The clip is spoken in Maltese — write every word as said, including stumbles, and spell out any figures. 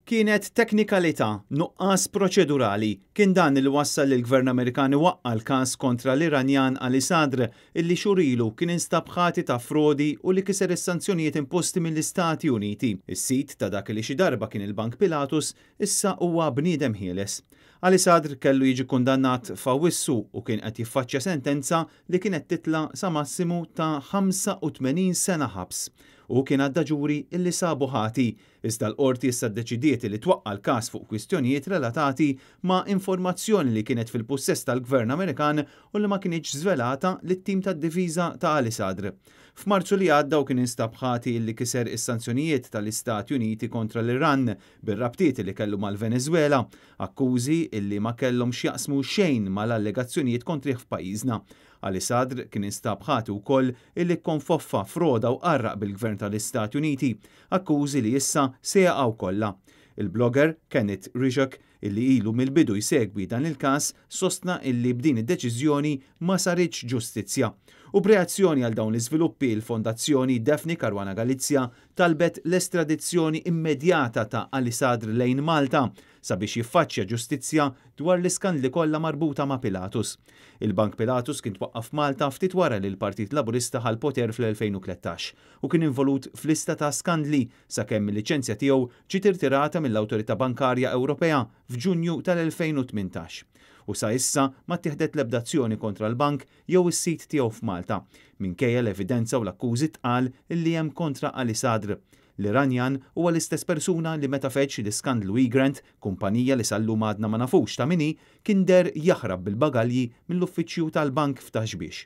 Kienet teknikalità, nuqqas proċedurali. Kien dan li wassal lill-Gvern Amerikan iwaqqa' l-każ kontra l-Iranjan Ali Sadr, illi xhur ilu kien instab ħati ta' frodi u li kiser is-sanzjonijiet imposti mill-Istati Uniti. Is-sid ta' dak li xi darba kien il-Bank Pilatus issa huwa bniedem ħieles. Ali Sadr kellu jiġi kundannat f'Awwissu u kien qed jiffaċċja sentenza li kienet titla' sa massimu ta' ħamsa u tmenin sena ħabs. U kien għadda ġuri illi sabu ħati, iżda l-qorti issa ddeċidiet li twaqqa' l-każ fuq kwistjonijiet relatati ma' informazzjoni li kienet fil-pussess tal-Gvern Amerikan u li ma kinitx żvelata lit-tim tad-difiża ta' Ali Sadr. F'Marzu li għadda u kien instab ħati illi kiser is-sanzjonijiet tal-Istati Uniti kontra l-Iran bir-rabtiet li kellu mal-Venezuela, akkużi illi ma kellhom x'jaqsmu xejn mal-allegazzjonijiet kontrih f'pajjiżna. Ali Sadr kien instab ħati wkoll illi kkonfoffa froda u qarraq bil-Gvern tal-Istati Uniti, akkużi li issa se jaqgħu kollha. Il-blogger Kenneth Rizek, illi ilu mill-bidu jsegwi dan il-każ, sostna illi b'din id-deċiżjoni ma saritx ġustizzja. U b'reazzjoni għal dawn l-iżviluppi, il-Fondazzjoni Daphne Caruana Galizia talbet l-estradizzjoni immedjata ta' Ali Sadr lejn Malta sabiex jiffaċċja ġustizzja dwar l-iskandli kollha marbuta ma' Pilatus. Il-Bank Pilatus kien twaqqaf Malta ftit wara li l-Partit Laburista ħa l-poter fl-elfejn u tlettax u kien involut f'lista ta' skandli sakemm il-liċenzja tiegħu ġiet irtirata mill-Awtorità Bankarja Ewropea f'Ġunju tal-elfejn u tmintax. U sa issa ma ttieħdet l-ebda azzjoni kontra l-bank jew is-sit tiegħu f'Malta, minkejja l-evidenza u l-akkużi tqal li hemm kontra Ali Sadr. L-Iranjan huwa l-istess persuna li meta feġġ l-iskandlu Egrant, kumpanija li sal-lum għadna ma nafux ta' min hi, kien der jaħrab bil-bagalji mill-uffiċċju tal-bank f'Ta' Xbiex.